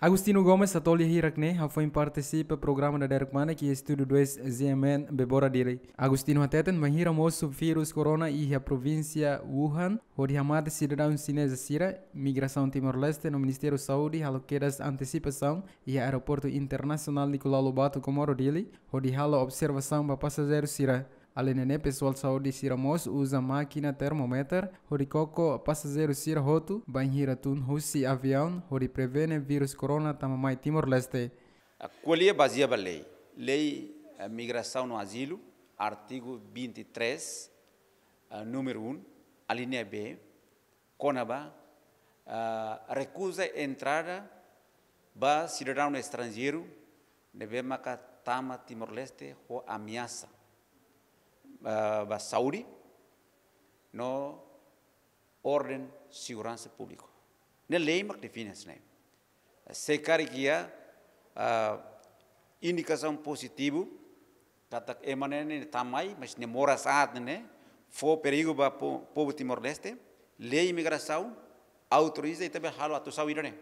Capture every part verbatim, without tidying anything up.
Agostinho Gomes hato'o lia hirak ne'e hafoin partisipa programa Dadeer Kmanek iha Estúdiu dois Z M N Bebora Dili. Agostinho hateten bainhira mosu vírus corona iha provínsia Wuhan, hodi hamate sidadaun xineza sira, Migrasaun Timor-Leste no Ministériu Saúde halo kedas antesipasaun iha Aeroportu Internasionál Nicolau Lobato Comoro Dili, hodi halo observasaun ba pasajeiru sira. Alende ne'e, pesoál saúde sira mós uza mákina termómetru hodi koko pasajeiru sira hotu bainhira tun husi aviaun hodi prevene vírus corona tama mai Timor-Leste. Ah, ko'alia bazeia ba lei. Lei, eh, Migrasaun no Azilu, artigu vinte e três, ah, númeru um, alínea B, kona-ba, ah, rekuza entrada ba sidadaun estranjeiru ne'ebé maka tama Timor-Leste ho ameasa, ah, ba saúde no orden seguransa públika. Ne'e lei mak define hanesan ne'e. Se karik iha, ah, indikasaun pozitivu katak ema ne'e, ne'e tama mai, mas nia moras aat ne'e, ne'e fó perigu ba po-, povu Timor-Leste, lei Migrasaun autoriza ita bele halo atuasaun ida-ne'e.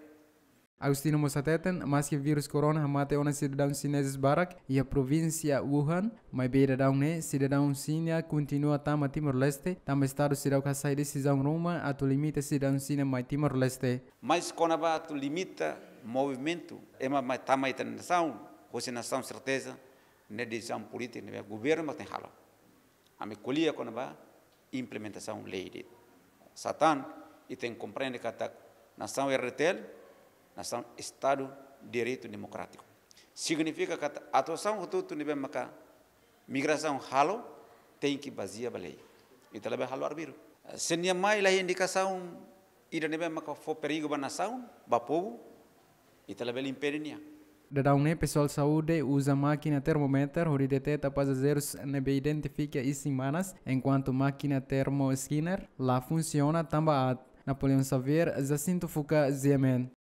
Agostinho mós hateten, maski vírus corona hamate ona sidadaun xinezes barak iha provínsia Wuhan, maibé dadaun ne'e sidadaun Xina kontinua tama Timor-Leste, tanba Estadu seidauk hasai desizaun ruma atu limita sidadaun Xina mai Timor-Leste. Mas kona-ba atu limita movimentu ema mai tama ita-nia nasaun, husi nasaun, serteza ne'e desizaun polítika ne'ebé governu mak tenke halo. Ami ko'alia kona-ba implementasaun lei de'it. Satán, ita tenke komprende katak nasaun R D T L, nasaun Estadu Direitu Demokrátiku. Signifika katak atuasaun hotu-hotu ne'ebé maka Migrasaun halo, tenke bazeia ba lei. Ita labele halo arbiru. Se nia mai la iha indikasaun ida ne'ebé maka fó perigu ba nasaun, ba povu, ita labele impede nia. Dadaun ne'e pesoál saúde uza mákina termómetru hodi deteta pasajeirus ne'ebé identifika isin-manas, enkuantu mákina termoscanner la funsiona tanba aat. Napoleão Xavier, Jacinto Fuca, Z M N.